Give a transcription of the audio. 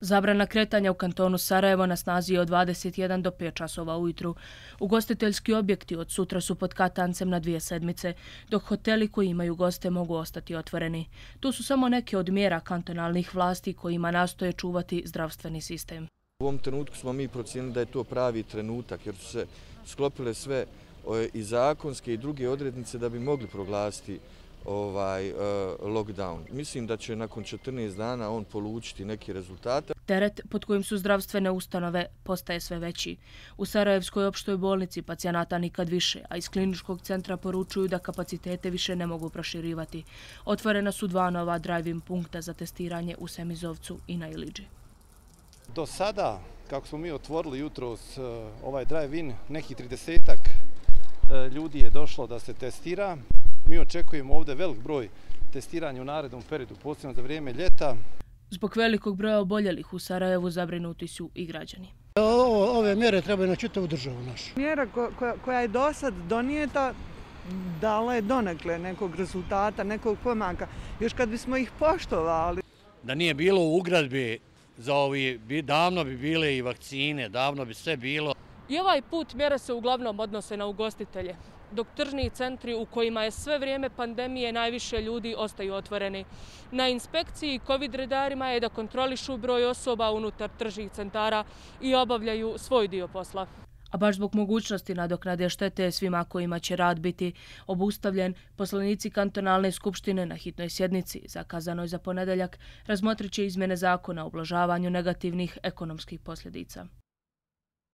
Zabrana kretanja u kantonu Sarajevo na snazi je od 21 do 5 časova ujutru. Ugostiteljski objekti od sutra su pod katancem na 2 sedmice, dok hoteli koji imaju goste mogu ostati otvoreni. Tu su samo neke od mjera kantonalnih vlasti kojima nastoje čuvati zdravstveni sistem. U ovom trenutku smo mi procijenili da je to pravi trenutak jer su se sklopile sve i zakonske i druge odrednice da bi mogli proglasiti lockdown. Mislim da će nakon 14 dana on polučiti neki rezultate. Teret pod kojim su zdravstvene ustanove postaje sve veći. U Sarajevskoj opštoj bolnici pacijenata nikad više, a iz kliničkog centra poručuju da kapacitete više ne mogu proširivati. Otvorena su 2 nova drive-in punkta za testiranje u Semizovcu i na Iliđi. Do sada, kako smo mi otvorili jutros ovaj drive-in, nekih 30-ak ljudi je došlo da se testira. Mi očekujemo ovdje velik broj testiranja u narednom periodu, posebno za vrijeme ljeta. Zbog velikog broja oboljelih u Sarajevu zabrinuti su i građani. Ove mjere trebaju na čitavu državu našu. Mjera koja je do sad donijeta dala je donekle nekog rezultata, nekog pomaka. Još kad bismo ih poštovali. Da nije bilo u ugradbi za ovi, davno bi bile i vakcine, davno bi sve bilo. I ovaj put mjere se uglavnom odnose na ugostitelje, dok tržni centri u kojima je sve vrijeme pandemije najviše ljudi ostaju otvoreni. Na inspekciji COVID redarima je da kontrolišu broj osoba unutar tržnih centara i obavljaju svoj dio posla. A baš zbog mogućnosti nadoknade štete svima kojima će rad biti obustavljen, poslanici kantonalne skupštine na hitnoj sjednici, zakazanoj za ponedeljak, razmotrit će izmjene zakona o ublažavanju negativnih ekonomskih posljedica.